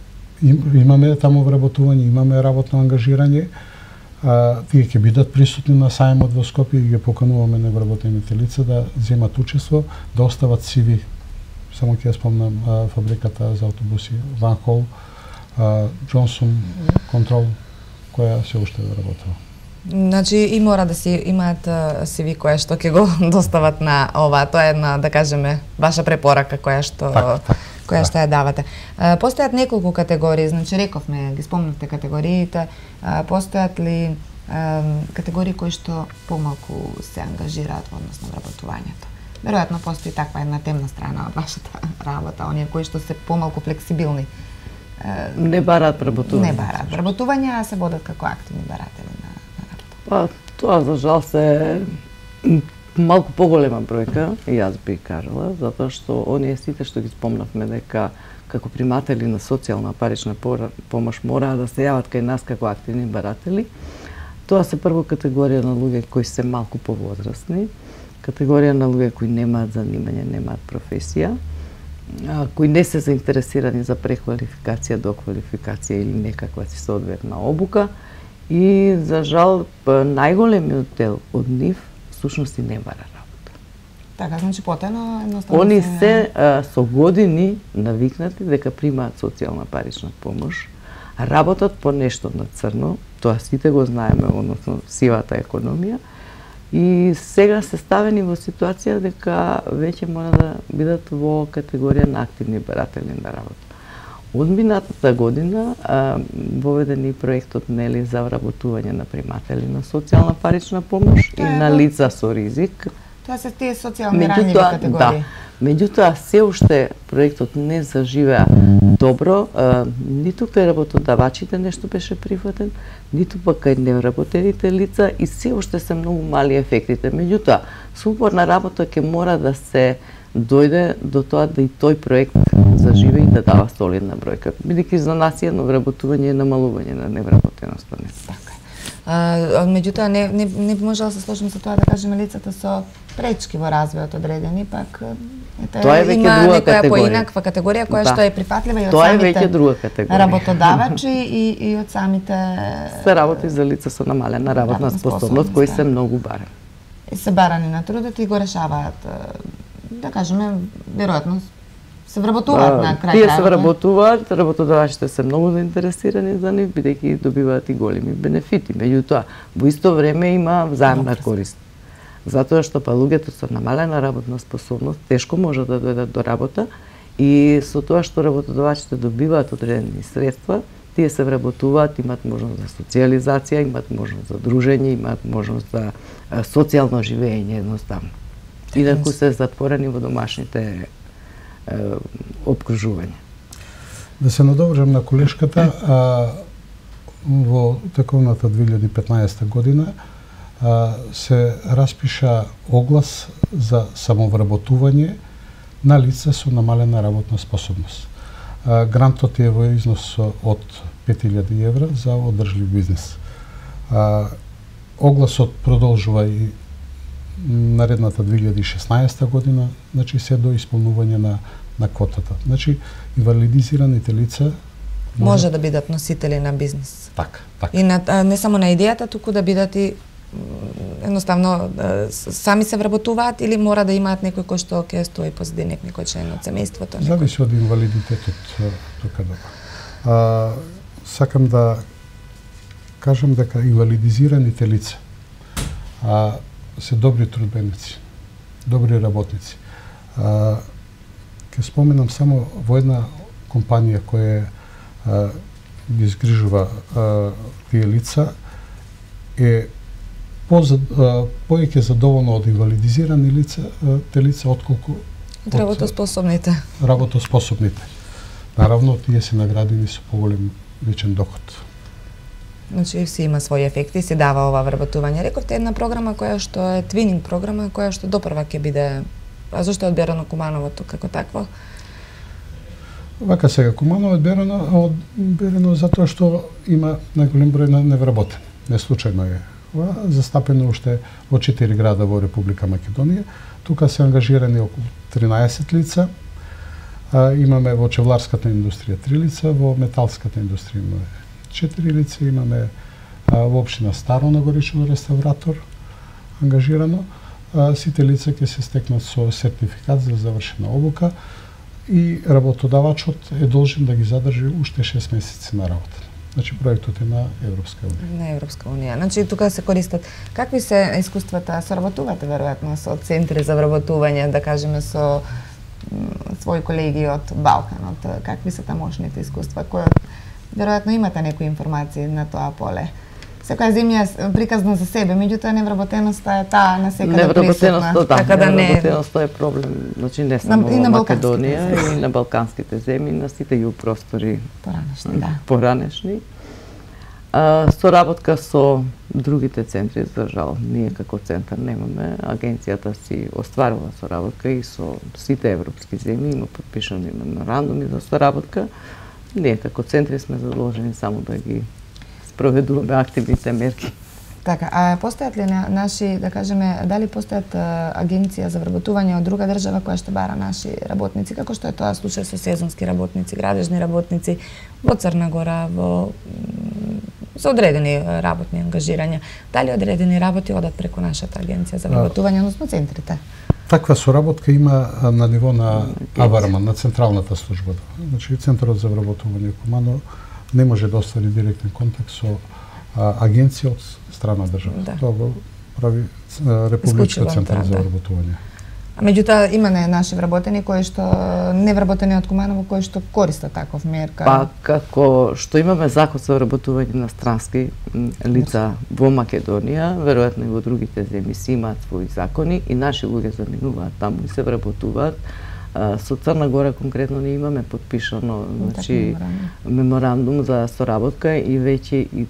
имаме таму вработување, имаме работно ангажирање. Тие ќе бидат присутни на сајмот во Скопје и ги покануваме невработените лица да земат учество, да остават CV. Само ќе ја спомнам фабриката за автобуси Ван Хол, Джонсон Контрол, која се уште работува. Значи и мора да си имаат CV која што ќе го достават на ова, тоа е една, да кажеме, ваша препорака која што која што ја давате. Постојат неколку категории, значи рековме, ги спомнавте категориите, постојат ли категории кои што помалку се ангажираат во однос на вработувањето? Веројатно постои таква една темна страна од вашата работа, оние кои што се помалку флексибилни. Не бараат вработување. Не бараат вработување, а се водат како активни баратели на работа. Па, тоа за жал се малку поголема бројка, и јас би кажала, затоа што оние сите што ги спомнавме дека како приматели на социјална парична помош мора да се јават кај нас како активни баратели. Тоа се прво категорија на луѓе кои се малку повозрасни, категорија на луѓе кои немаат занимање, немаат професија, кои не се заинтересирани за преквалификација, доквалификација или некаква си соодветна обука и за жал најголемиот дел од нив всушност и не бара работа. Така, значи потено едноставно они се со години навикнати дека примаат социјална парична помош, работат по нешто на црно, тоа сите го знаеме, односно сивата економија, и сега се ставени во ситуација дека веќе мора да бидат во категорија на активни баратели на работа. Од минатата година воведен и проектот нели за вработување на приматели на социјална парична помош и на лица со ризик. Тоа се тие социјални ранливи категории. Да. Меѓутоа се уште проектот не заживеа добро, ниту кај работодавачите нешто беше прифатен, ниту пак кај невработените лица и се уште се многу мали ефектите. Меѓутоа, со упорна работа ќе мора да се дојде до тоа да и тој проект заживе и да дава солидна бројка. Бидејќи за нас едно вработување е намалување на невработеноста. Така е. Меѓутоа, не можела да се сложим со тоа да кажеме лицата со пречки во развојот одредени, пак тоа е веќе друга категорија. Поинаква категорија која што е прифатлива и од тоа е веќе друга категорија. Работодавачи и од самите... Се работи за лица со намалена работна способност, кои се многу барани. Се барани на трудот и го решаваат, да кажеме, веројатно се вработуваат на крај. Тие се вработуваат, работодавачите се многу заинтересирани за нив, бидејќи добиваат и големи бенефити. Меѓутоа, во исто време има взаемна корист. Затоа што па луѓето со намалена работна способност тешко можат да дојдат до работа и со тоа што работодавачите добиваат одредени средства, тие се вработуваат, имаат можност за социјализација, имаат можност за дружење, имаат можност за социјално живење едноставно. Инаку се затворени во домашните обкружувања. Да се надовржам на колешката, во тековната 2015 година се распиша оглас за самовработување на лица со намалена работна способност. Грантот е во износ од 5000 евра за одржлив бизнес. Огласот продолжува и наредната 2016 година, значи се до исполнување на квотата. Значи, инвалидизираните лица може да бидат носители на бизнис. Така. И не само на идејата, туку да бидат и едноставно сами се вработуваат или мора да имаат некој кој што ќе стои позади некој член од семејството. Зависи од инвалидитетот тука да. Сакам да кажам дека инвалидизираните лица се добри трудбеници, добри работници. Ќе споменам само во една компанија која ги изгрижува тие лица е повеќе задоволно од инвалидизирани лица, те лица отколку од работоспособните. Наравно, тие се наградени со поголем личен доход. Значи, си има своји ефекти, се дава ова вработување. Рековте една програма која што е твининг програма, која што допрва ќе биде... А зашто е одберано Кумановото како такво? Вака сега, Куманово е одберено затоа што има најголем број на невработени. Не случајно е. Застапено уште во 4 града во Република Македонија. Тука се ангажирани околу 13 лица. Имаме во чевларската индустрија 3 лица, во металската индустрија имаме 4 лица, имаме во општина Старо Нагорично реставратор ангажирано. Сите лица ќе се стекнат со сертификат за завршена обука и работодавачот е должен да ги задржи уште 6 месеци на работа. Значи проектот е на Европска унија. На Европска унија. Значи тука се користат. Какви се искуствата? Соработувате веројатно со центри за вработување, да кажеме со своји колеги од Балканот. Какви се тамошните искуства? Веројатно имате некои информации на тоа поле. Секоја земја е приказна за себе, меѓутоа невработеноста е таа на секаде присутна. Невработеноста е проблем, значи не само во Македонија, и на балканските земји, на сите југ простори поранешни. Соработка со другите центри, за жал, ние како центар немаме. Агенцијата си остварува соработка и со сите европски земји, има подпишани меморандуми за соработка. Ние како центри сме задолжени само да ги спроведуваме активните мерки. Така, а постојат ли наши, да кажеме, дали постојат агенција за вработување од друга држава која што бара наши работници, како што е тоа случај со сезонски работници, градежни работници во Црна Гора, со одредени работни ангажирања. Дали одредени работи одат преку нашата агенција за вработување, односно центрите? Таква соработка има на ниво на АВАРМА, на централната служба. Значи, Центарот за вработување Куманово не може да оствари директен контакт со агенција од страна држава. Тоа го прави Републичка центар за вработување. А меѓутоа има наши вработени кои што невработени од Куманово кои што користат таков мерка. Па како што имаме закон за вработување на странски лица во Македонија, веројатно и во другите земји си имаат своји закони и наши луѓе заминуваат таму и се вработуваат. Со Црна Гора конкретно не имаме подпишано, значи меморандум за соработка и веќе и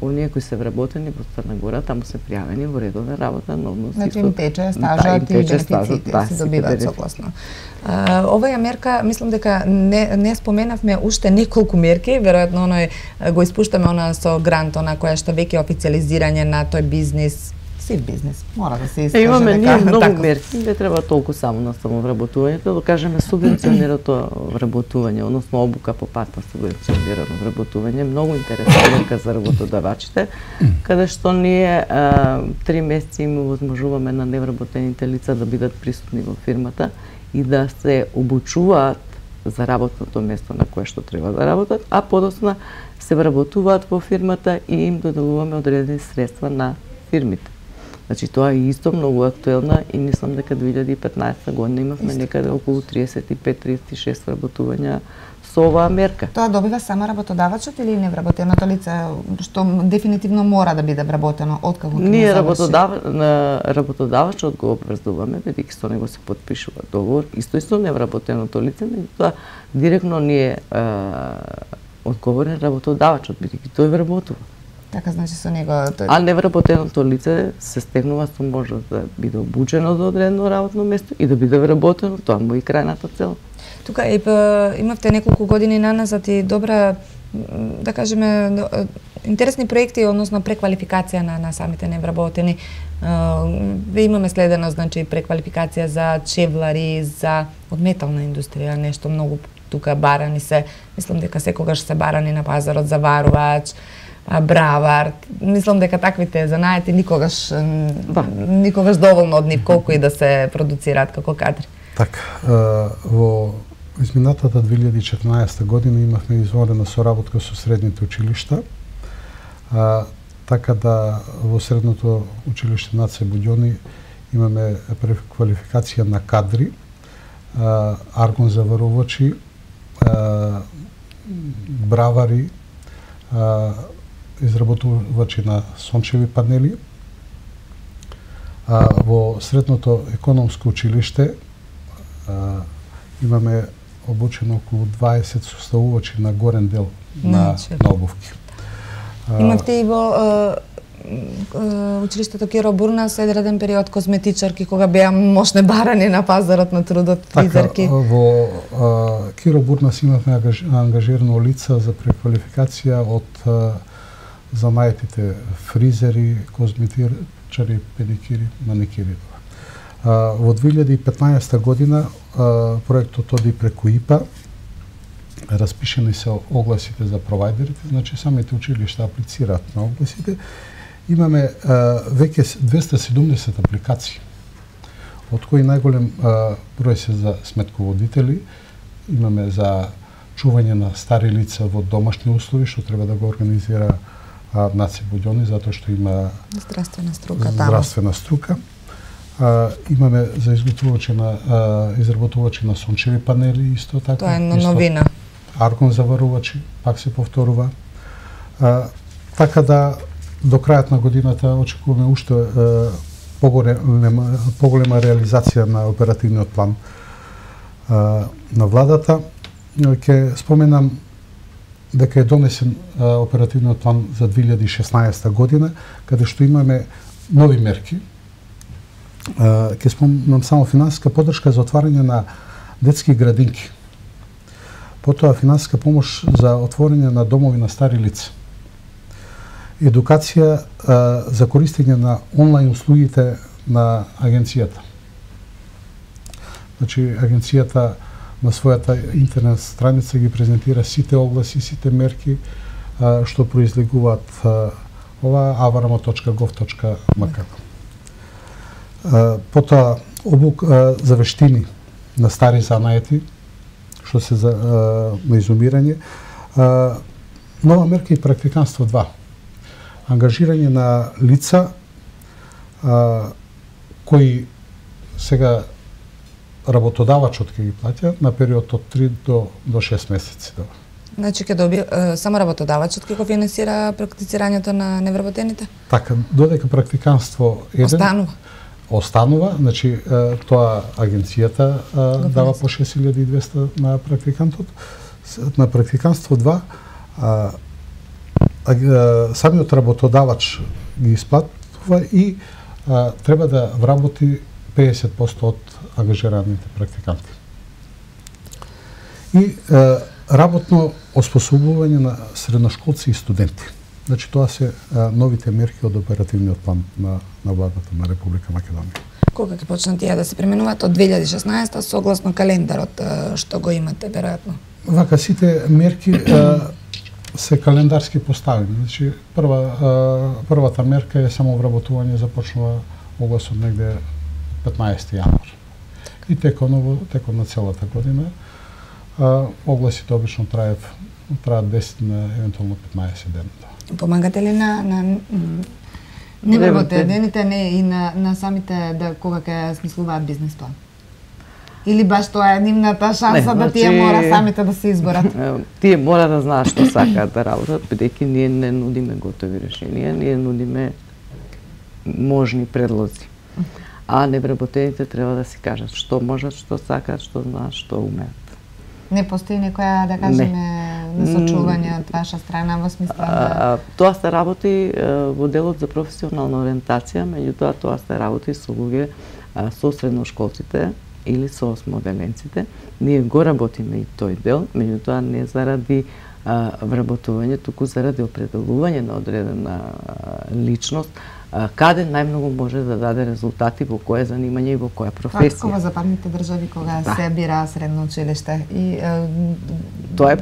оние кои се вработени во Црна Гора таму се пријавени во редовна работа, но значи им тече стажот и бенефициите се добиваат согласно. Оваа мерка, мислам дека не споменавме уште неколку мерки, веројатно го испуштаме со грант, која што веќе официализирање на тој бизнис. Бизнес. Мора да се искаже. Имаме ние многу мерки, не треба толку само на самовработувањето, да кажеме субвенционирано вработување, односно обука по пат на субвенционирано вработување, многу интересна мерка за работодавачите, каде што ние 3 месеци им овозможуваме на невработените лица да бидат присутни во фирмата и да се обучуваат за работното место на кое што треба да работат, а подоцна се вработуваат во фирмата и им доделуваме одредени средства на фирмите. Значи тоа е исто многу актуелна и мислам дека 2015 година имавме некаде околу 35-36 вработувања со оваа мерка. Тоа добива само работодавачот или невработеното лице, што дефинитивно мора да биде вработено откако ќе ние работодавачот го обврзуваме, бидејќи со него се потпишува договор, исто невработеното лице, меѓутоа директно ние одговорен работодавачот, бидејќи тој вработува. Така, значи со него... А невработеното лице се стегнува со можност да биде обучено за одредено работно место и да биде вработено, тоа му и крајната цел. Тука имавте неколку години наназад и добра, да кажеме, интересни проекти, односно преквалификација на самите невработени. Имаме следено, значи, преквалификација за чевлари, за од метална индустрија, нешто многу тука барани се, мислам дека секогаш се барани на пазарот заварувач, бравар. Мислам дека таквите занаети никогаш доволно од нив, колку и да се продуцираат како кадри. Така, во изминатата 2014 година имавме изворена соработка со средните училишта, така да во средното училиште Наце Буѓони имаме преквалификација на кадри, аргон заварувачи, бравари, изработувачи на сончеви панели. Во средното економско училиште имаме обучено околу 20 составувачи на горен дел на обувки. Имавте и во училиштето Киро Бурнас едреден период козметичарки кога беа мощне барани на пазарот на трудот, фризерки. Така, во Киро Бурнас имавме ангажирано лица за преквалификација од занаетите фризери, козметичари, педикири, маникири. Во 2015 година проектот оди преку ИПА, распишени се огласите за провајдерите, значи самите училишта аплицираат на огласите. Имаме веќе 270 апликации, од кои најголем број се за сметководители, имаме за чување на стари лица во домашни услови, што треба да го организира Наце Буѓони, затоа што има здравствена струка. Имаме за изработувачи на сончеви панели, исто така. Тоа е новина. Аргон заварувачи, пак се повторува. Така да до крајот на годината очекуваме уште поголема реализација на оперативниот план на владата. Ќе споменам дека е донесен оперативниот план за 2016 година, каде што имаме нови мерки. Ќе спомнам само финансиска поддршка за отварање на детски градинки. Потоа финансиска помош за отворање на домови на стари лица. Едукација за користење на онлайн услугите на агенцијата. Значи, агенцијата на својата интернет страница ги презентира сите огласи, сите мерки што произлегуваат ова avaramo.gov.mk. Потоа за вештини на стари занаети, што се на изумирање. Нова мерка и практиканство 2. Ангажирање на лица кои сега работодавачот ќе ги плаќа на период од 3 до 6 месеци. Значи ќе доби само работодавачот ќе го финансира практицирањето на невработените? Така, додека практиканство останува, значи тоа агенцијата дава по 6200 на практикантот. На практиканство 2 самиот работодавач ги исплатува и треба да вработи 50% од ангажираните практиканти. И работно оспособување на средношколци и студенти. Значи тоа се новите мерки од оперативниот план на владата на Република Македонија. Кога ќе почнат тие да се применуваат? Од 2016 согласно календарот што го имате веројатно? Вака сите мерки се календарски поставени. Значи првата мерка е само вработување, започнува огласот негде 15 јануар. И текон на целата година огласите обично траат 10 на евентуално 15 дена. Помагате ли на невработените и на самите кога ќе смислуваат бизнес план? Или баш тоа е нивната шанса да тие мора самите да се изборат? Тие мора да знаат што сакаат да работат, бидејќи ние не нудиме готови решенија, ние нудиме можни предлози. А невработените треба да си кажат што можат, што сакаат, што знаат, што умеат. Не постои некоја, да кажеме, насочување од ваша страна во смисла да... Тоа се работи во делот за професионална ориентација, меѓутоа тоа се работи со луѓе со средношколците или со осмоделенците. Ние го работиме и тој дел, меѓутоа не заради вработување, туку заради определување на одредена личност каде најмногу може да даде резултати, во кое занимање и во која професија. Како во западните држави кога се бира средно училиште и тоа е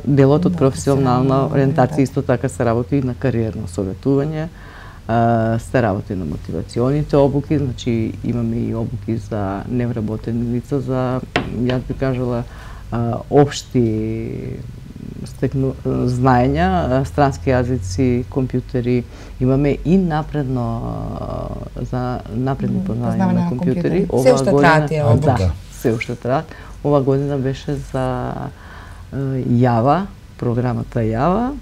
делот од професионална ориентација, исто така се работи и на кариерно советување, се работи на мотивационите обуки, значи имаме и обуки за невработени лица, за, јас би кажала, општи знаења, странски јазици, компјутери, имаме и за напредни познавања на компјутери. Се уште траат тие обуки. Да, се уште траат. Ова година беше за Јава, програмата Јава,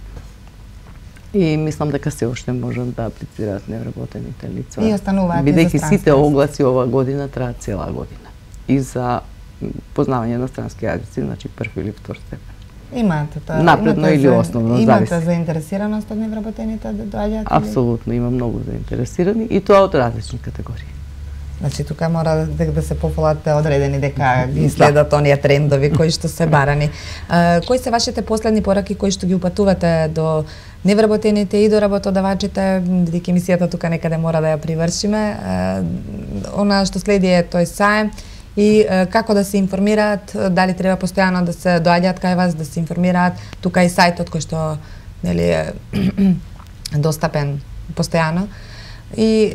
и мислам дека се уште можат да аплицираат невработените лица. И остануваат и за бидејќи сите огласи ова година траат цела година. И за познавање на странски јазици, значи први или втор степен. Имате тоа? Напредно или основно, зависи. Имате заинтересираност од невработените да доаѓаат? Апсолутно, има многу заинтересирани и тоа од различни категории. Значи, тука мора да се пофолат одредени дека ги следат оние трендови кои што се барани. Кои се вашите последни пораки кои што ги упатувате до невработените и до работодавачите, бидејќи емисијата тука некаде мора да ја привршиме? Она што следи е тој саем и како да се информираат, дали треба постојано да се доаѓаат кај вас, да се информираат, тука и сајтот кој што нели е достапен постојано. И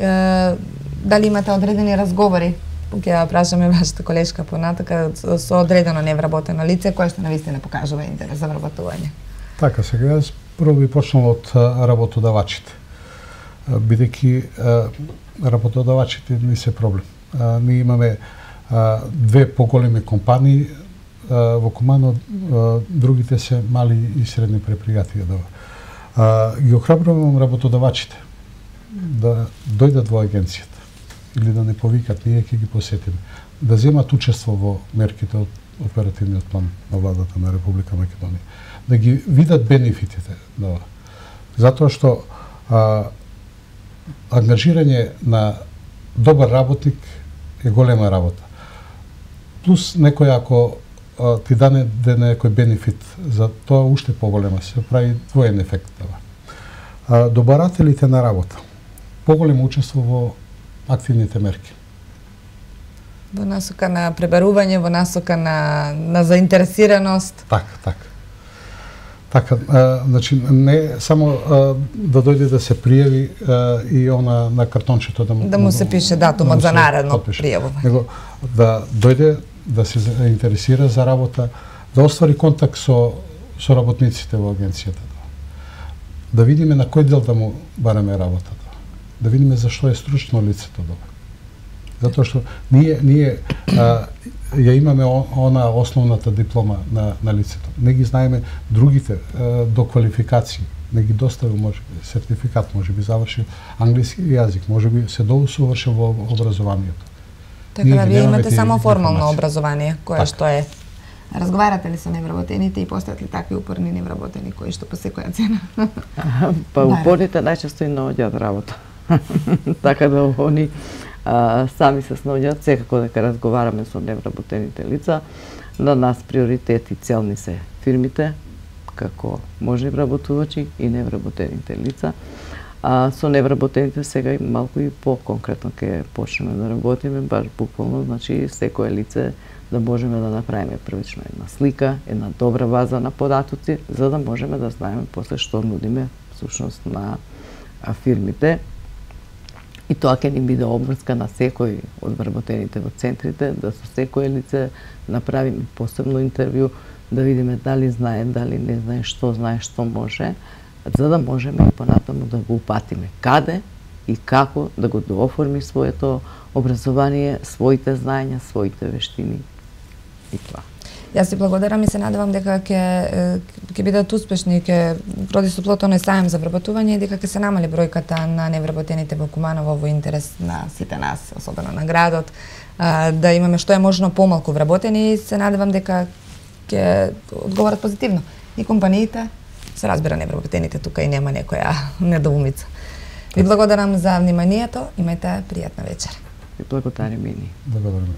дали имате одредени разговори, ќе ја прашаме вашата колешка понатака, со одредено невработено лице кое што навистина покажува интерес за вработување? Така, сега јас прво би почнал од работодавачите, бидејќи работодавачите не се проблем. Ние имаме две поголеми компании во Куманово, другите се мали и средни предпријатија. Ги охрабрувам работодавачите да дојдат во агенцијата или да не повикат, ние ќе ги посетиме, да земат учество во мерките од оперативниот план на владата на Република Македонија, да ги видат бенефитите на ова. Затоа што ангажирање на добар работник е голема работа. Плюс некој ако ти даде некој бенефит, за тоа уште поголема се прави двоен ефект. Добарателите на работа, поголемо учество во активните мерки. Во насока на пребарување, во насока на заинтересираност. Така, значи не само да дојде да се пријави и она на картончето да му се пише датумот за наредно пријавување, него да дојде да се заинтересира за работа, да оствари контакт со работниците во агенцијата, да видиме на кој дел да му бараме работата, да видиме зашто е стручно лицето добро. Затоа што ние ја имаме она основната диплома на лицето. Не ги знаеме другите до квалификации. Не ги доставил може сертификат, може би завршил англиски јазик, може би се доусовршил во образованието. Така да вие имате само формално образование, кое што е. Разговарате ли со невработените и постојат ли такви упорни невработени кои што по секоја цена? Па упорните најчесто и наоѓаат работа. Така да они сами се снаоѓаат, секако дека разговараме со невработените лица. На нас приоритет и целни се фирмите, како можни вработувачи и невработените лица. Со невработените сега и малку и по-конкретно ќе почнеме да работиме, баш буквално, значи секое лице да можеме да направиме првично една слика, една добра база на податоци, за да можеме да знаеме после што нудиме всушност на фирмите. И тоа ќе ни биде обврска на секој од вработените во центрите, да со секое лице направиме посебно интервју, да видиме дали знае, дали не знае, што може, за да можеме и понатаму да го упатиме каде и како да го дооформи своето образование, своите знаења, своите вештини и тоа. Јас ви благодарам и се надевам дека ќе бидат успешни, ќе роди со плод оној саем за вработување и дека ќе се намали бројката на невработените во Куманово во интерес на сите нас, особено на градот, да имаме што е можно помалку вработени и се надевам дека ќе одговорат позитивно и компаниите, се разбира невработените тука и нема некоја недоумица. Ви благодарам за вниманието, имајте пријатна вечер. Ви благодарам и ние. Благодарам.